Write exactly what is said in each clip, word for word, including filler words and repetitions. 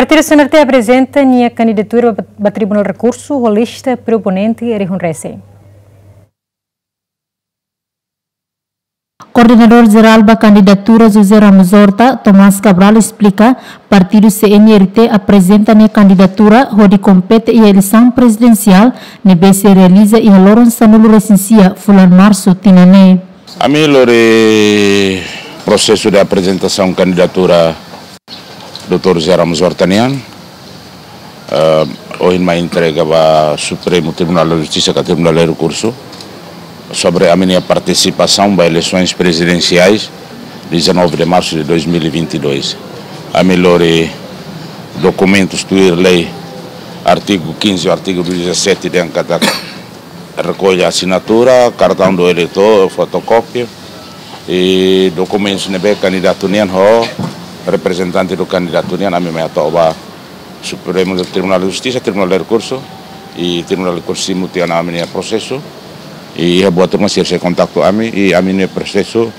Partidu C N R T aprezenta nia kandidatura ba, ba Tribunál Rekursu ho lista proponente rihun resin. Koordenadór Jerál ba kandidatura José Ramos Horta, Tomás Cabral, esplika, Partidu C N R T aprezenta nia kandidatura hodi kompete iha eleisaun prezidensiál ne'ebé sei realiza iha loron sanulu-resin-sia fulan Marsu tinan ne'e. Ami lori prosesu de aprezentasaun kandidatura doutór José Ramos Horta nian, eh, ohin mai entrega ba Supremo Tribunal de Justiça ka Tribunál de Rekursu sobre ami-nia partisipasaun ba eleisoens prezidensiais dezanove de março de dois mil e vinte e dois. Ami lori dokumentus tuir lei, artigu quinze, artigu dezassete dehan katak rekolla asinatura, kartaun do eleitór, fotokópia, i dokumentus ne'ebé kandidatu nian ho reprezentante do kandidatu nian, ami mai hato'o ba Supremo Tribunál de Justiça, Tribunál de Rekursu, i Tribunál de Rekursu simu tiha ona ami-nia prosesu, i iha buat ruma sira sei kontaktu ami, i ami-nia prosesu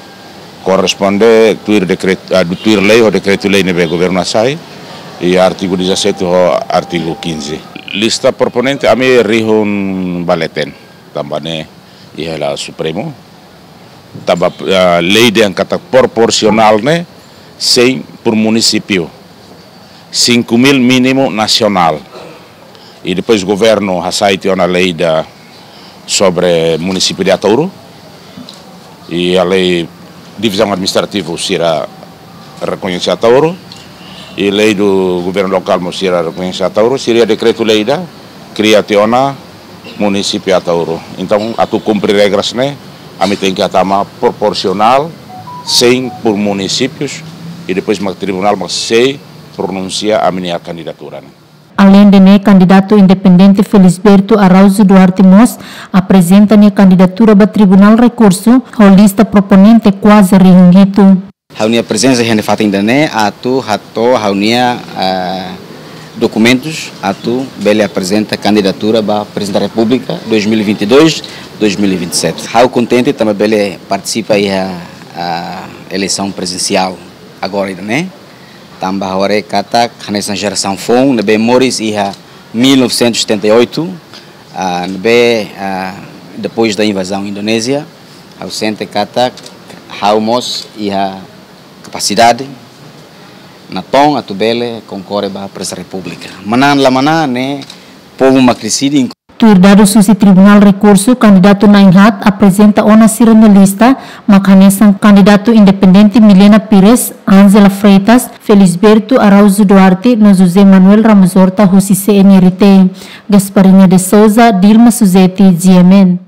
korresponde tuir dekretu, ah, tuir lei ho dekretu-lei ne'ebé governu hasai, i artigu dezassete ho artigu quinze. Lista proponente ami rihun ba leten, tanba ne'e iha hela Supremo, tanba, ah, lei dehan katak proporsionál ne'e cem por município, cinco mil mínimu nasionál. I depois governu hasai tiha ona lei ida sobre munisípiu de Ataúro. I a lei divizaun administrativa sira rekoñese Ataúro. I lei do governu lokál mós sira rekoñese Ataúro. Sira dekretu-lei ida kria tiha ona munisípiu Ataúro. Entaun, atu kumpre regras ne'e, ami tenke hatama proporsionál, cem por municípios, i depois mak tribunál mak sei pronunsia ami-nia kandidatura ne'e. Aleinde ne'e, kandidatu independente Felisberto Araújo Duarte mós aprezenta nia kandidatura ba Tribunál Rekursu ho lista proponente kuaze rihun hitu. Ha'u-nia prezensa iha ne'e fatin ida-ne'e atu hato'o ha'u-nia, ah, dokumentus atu bele aprezenta kandidatura ba Prezidente da Repúblika dois mil e vinte e dois, dois mil e vinte e sete. Ha'u kontente tanba bele partisipa iha, ah, eleisaun prezidensiál agora ida-ne'e. Tanba ha'u haree katak hanesan jerasaun foun ne'ebé moris iha mil novecentos e setenta e oito, ah, ne'ebé, ah, depois da invasão Indonésia, ha'u sente katak ha'u mós iha kapasidade natoon atu bele konkorre ba Prezidente da Repúblika. Manán la manán ne'e povu mak deside. Tuir dadus husi Tribunál Rekursu, kandidatu na'in-haat aprezenta ona sira-nia lista, mak hanesan kandidatu independente Milena Pires, Ángela Freitas, Felisberto Araújo Duarte, no José Manuel Ramos Horta husi C N R T. Gasparinha de Souza, Dilma Suzeti, G M N.